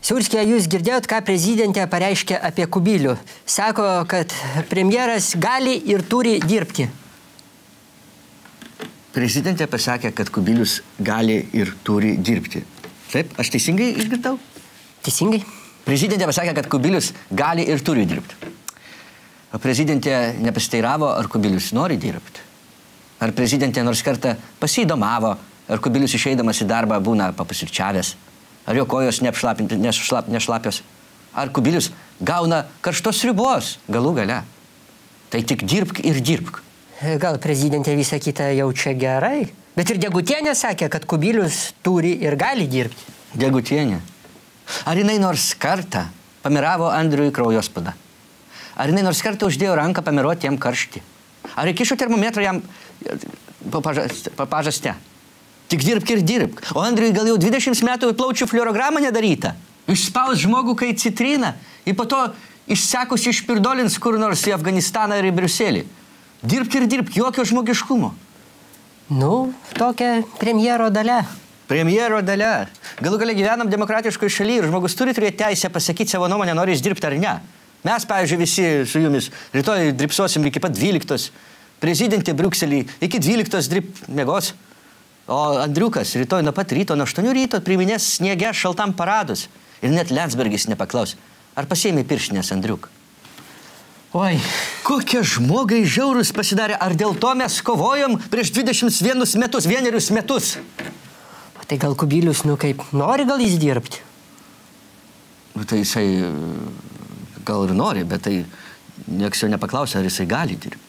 Siurskė, jūs girdėjot, ką prezidentė pareiškė apie Kubilių. Sako, kad premjeras gali ir turi dirbti. Prezidentė pasakė, kad Kubilius gali ir turi dirbti. Taip, aš teisingai išgirdau? Teisingai. Prezidentė pasakė, kad Kubilius gali ir turi dirbti. O prezidentė nepasiteiravo, ar Kubilius nori dirbti. Ar prezidentė nors kartą pasidomavo, ar Kubilius išeidamas į darbą būna papusryčiavęs. Ar jo kojos nešlapios? Ar Kubilius gauna karštos sriubos galų gale? Tai tik dirbk ir dirbk. Gal prezidentė visą kitą jaučia gerai? Bet ir Degutienė sakė, kad Kubilius turi ir gali dirbti. Degutienė. Ar jinai nors kartą pamiravo Andriui kraujospūdą? Ar jinai nors kartą uždėjo ranką pamiruoti jam karštį? Ar įkišo termometrą jam pažaste? Tik dirbk ir dirbk. O Andriui gal jau 20 metų plaučių fluorogramą nedaryta. Išspaus žmogų kai citriną ir po to išsekus išpirdolins kur nors į Afganistaną ir į Briuselį. Dirbk ir dirbk, jokio žmogiškumo. Nu, tokia premjero dalia. Premjero dalia. Galų gale gyvenam demokratiškoje šalyje ir žmogus turi turėti teisę pasakyti savo nuomonę, nori jis dirbti ar ne. Mes, pavyzdžiui, visi su jumis rytoj dripsosim iki pat 12. Prezidentė Briukselį iki 12 miegos. O Andriukas rytoj nuo pat ryto, nuo 8 ryto priminės sniege šaltam paradus. Ir net Landsbergis nepaklaus, ar pasiėmė pirštinės Andriuk. Oi. Kokie žmogai žiaurus pasidarė, ar dėl to mes kovojom prieš 21 metus, vienerius metus? O tai gal Kubilius, kaip nori gal jis dirbti? Tai jisai gal ir nori, bet tai nieks jo nepaklausė, ar jisai gali dirbti.